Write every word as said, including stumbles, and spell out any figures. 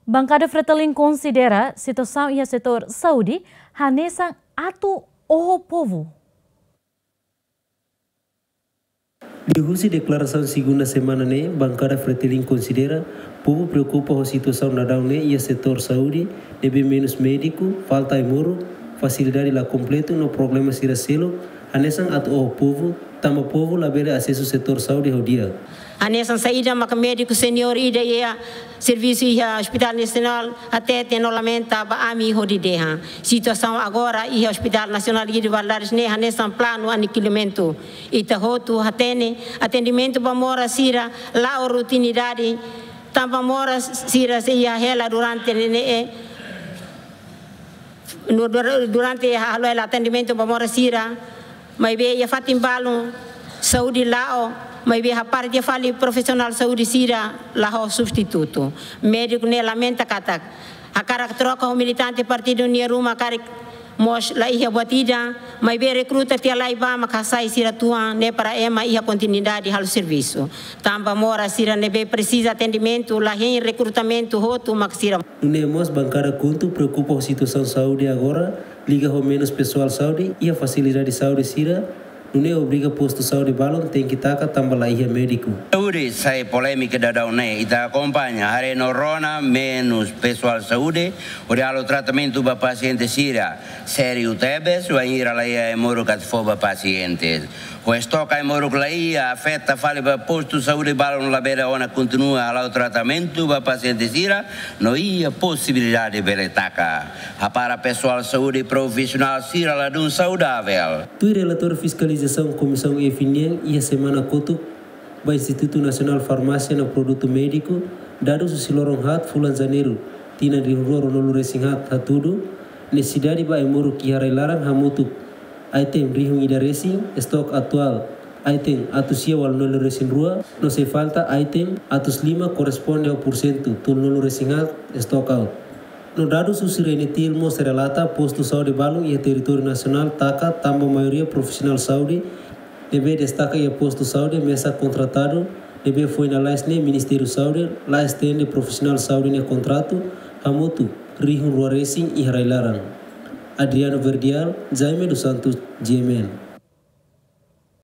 Bankada Fretilin konsidera situasaun iha setór saúde hanesan atu oho povu. Liuhusi deklarasaun segunda semana ne'e, bankada Fretilin konsidera povu preokupa ho situasaun daudaun ne'e iha setór saúde, ne'ebé menus médiku, falta ai-moruk, fasilidade la kompletu no problema sira seluk, hanesan atu oho povu, tanba povu labele asesu setór saúde ho di'ak. Hanesan saida maka médiku seniór ida iha servisu iha Hospital Nasionál hatete no lamenta ba ami hodi dehan. Situasaun agora iha Hospital Nasionál Guido Valadares ne'e hanesan planu anikilumentu. Ita hotu hatene atendimentu ba moras sira la'o rutinidade, tanba moras sira sei iha hela durante ne'e, no dur-, durante halo hela atendimentu ba moras sira, maibé iha fatin balun saúde la'o, maibé hapara tiha fali profisionál saúde sira la ho substitutu. Médiku ne'e lamenta katak hakarak troka ho militante partidu nia ruma karik mós la iha buat ida, maibé rekruta tiha lai ba mak hasai sira tuan ne'e para ema iha kontinuidade halo servisu. Tanba moras sira ne'ebé presiza atendimentu la hein rekrutamentu hotu mak sira. Nune'e mós bankada KHUNTO preokupa ho situasaun saúde agora, liga ho menus pesoál saúde iha fasilidade saúde sira, nune'e obriga postu saúde balun tenke taka tanba la iha médiku. Saúde sai polémika daudaun ne'e, ita akompaña, haree no rona menus pesoál saúde hodi halo tratamentu ba pasiente sira, sériu tebes, wainhira la iha ai-moruk atu fó ba pasiente. Ho estok ai-moruk la iha, afeta fali ba postu saúde balun labele ona kontinua hala'o tratamentu ba pasiente sira, no iha posibilidade bele taka. Hapara pesoál saúde profisionál sira ladún saudavel. Tuir relatóriu fiskalizasaun Komisaun F nian iha semana kotuk ba Institutu Nasionál Farmásia no Produtu Médiku, dadus husi loron haat fulan Janeiru, tinan rihun rua ruanulu resin haat hatudu, nesesidade ba ai-moruk iha rai-laran hamutuk item rihun ida resin, estok atuál item atus sia ualunulu resin rua, no sei falta item atus lima, korresponde ho pursentu tolunulu resin haat estok out. No dadus husi RENETIL mós relata postu saúde balun iha territóriu nasionál taka tanba maioria profisionál saúde ne'ebé destaka iha postu saúde mesak kontratadu, ne'ebé foin lalais ne'e Ministériu Saúde la estende profisionál saúde nia kontratu hamutuk rihun rua resin iha rai-laran. Adriano Verdial, Jaime dos Santos, G M N.